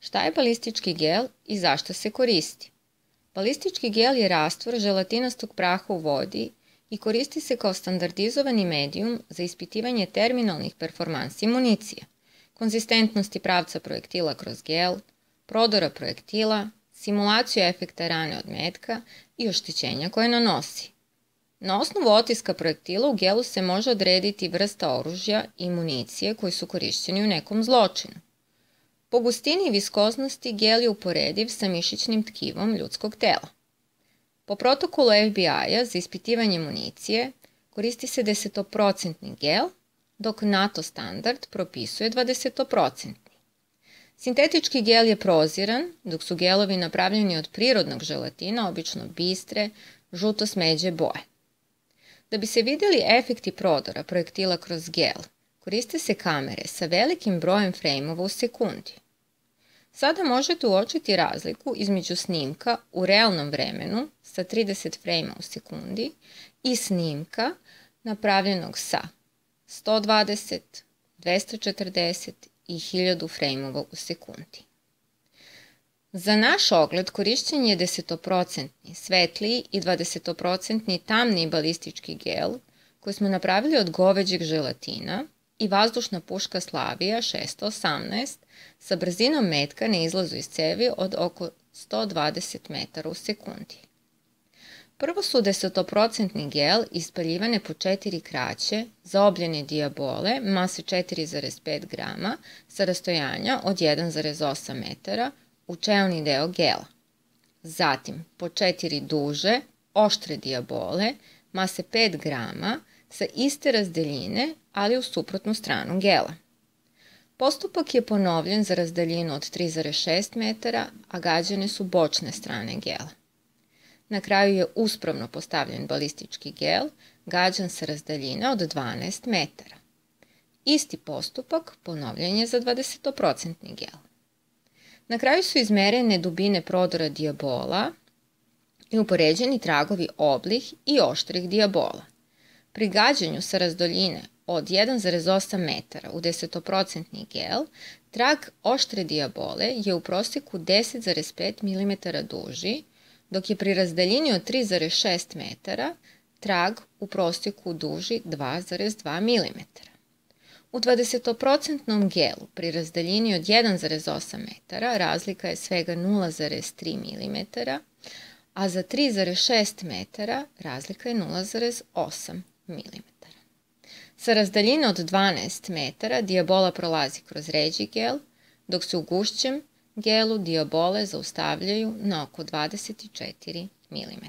Šta je balistički gel i zašto se koristi? Balistički gel je rastvor želatinastog praha u vodi i koristi se kao standardizovani medijum za ispitivanje terminalnih performansi municije, konzistentnosti pravca projektila kroz gel, prodora projektila, simulaciju efekta rane od metka i oštećenja koje nanosi. Na osnovu otiska projektila u gelu se može odrediti vrsta oružja i municije koji su korišćeni u nekom zločinu. Po gustini i viskoznosti gel je uporediv sa mišićnim tkivom ljudskog tela. Po protokolu FBI-a za ispitivanje municije koristi se 10% gel, dok NATO standard propisuje 20%. Sintetički gel je proziran, dok su gelovi napravljeni od prirodnog želatina, obično bistre, žuto-smeđe boje. Da bi se vidjeli efekti prodora projektila kroz gel, koriste se kamere sa velikim brojem frejmova u sekundi. Sada možete uočiti razliku između snimka u realnom vremenu sa 30 frejma u sekundi i snimka napravljenog sa 120, 240 i 1000 frejmova u sekundi. Za naš ogled korišćen je 10% svetliji i 20% tamniji balistički gel koji smo napravili od goveđeg želatina i vazdušna puška Slavija 618 sa brzinom metka na izlazu iz cevi od oko 120 metara u sekundi. Prvo su 10% gel ispaljivane po 4 kraće zaobljene dijabole mase 4,5 grama sa rastojanja od 1,8 metara u čelni deo gela. Zatim po 4 duže, oštre dijabole mase 5 grama sa iste razdaljine, ali u suprotnu stranu gela. Postupak je ponovljen za razdaljinu od 3,6 metara, a gađane su bočne strane gela. Na kraju je uspravno postavljen balistički gel, gađan sa razdaljine od 12 metara. Isti postupak ponovljen je za 20% gel. Na kraju su izmerene dubine prodora dijabola i upoređeni tragovi oblih i oštrih dijabola. Pri gađanju sa razdaljine od 1,8 metara u 10% gel, trag oštre dijabole je u prosjeku 10,5 mm duži, dok je pri razdaljini od 3,6 metara trag u prosjeku duži 2,2 mm. U 20% gelu pri razdaljini od 1,8 metara razlika je svega 0,3 mm, a za 3,6 metara razlika je 0,8 mm. Sa razdaljine od 12 metara dijabola prolazi kroz ređi gel, dok se u gušćem gelu dijabole zaustavljaju na oko 24 mm.